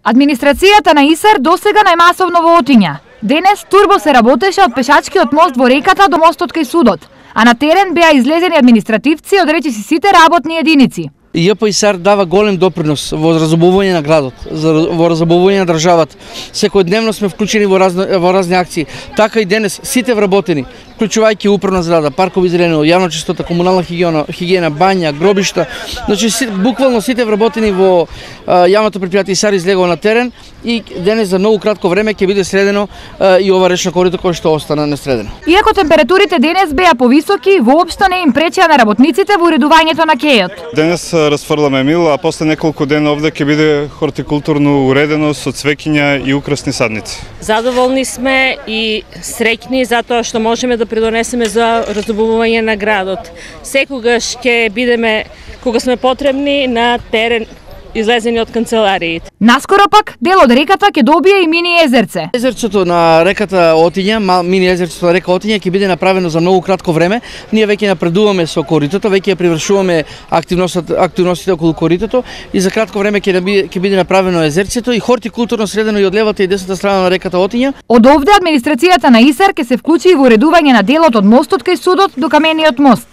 Администрацијата на Исар досега најмасовно во Отиња. Денес турбо се работеше од пешачкиот мост во реката до мостот кај судот, а на терен беа излезени административци од речиси сите работни единици. ЈП Исар дава голем допринос во разобување на градот, во разобување на државата. Секојдневно сме вклучени во разни акции. Така и денес сите вработени, вклучувајќи управна зграда, паркови зелено, јавна чистота, комунална хигиена, бања, гробишта. Значи буквално сите вработени во јавното претпријатие Исар излегува на терен и денес за многу кратко време ќе биде средено и ова речно корито кое што остана несредено. Иако температурите денес беа повисоки, воопшто не им пречеа на работниците во уредувањето на кејот. Денес расфрламе мил, а после неколку дена овде ќе биде хортикултурно уредено со цвеќиња и украсни садници. Задоволни сме и среќни затоа што можеме да придонесеме за разобување на градот. Секогаш ќе бидеме кога сме потребни на терен излезени од канцелариите. Наскоро пак дел од реката ќе добие и мини езерце. Езерцето на реката Отиња, мини езерцето на река Отиња ќе биде направено за многу кратко време. Ние веќе напредуваме со коритото, веќе ја привршуваме активностите околу коритото и за кратко време ќе биде направено езерцето и хортикултурно средено и од левата и десната страна на реката Отиња. Од овде администрацијата на Исар ќе се вклучи и во уредување на делот од мостот кај судот до камениот мост.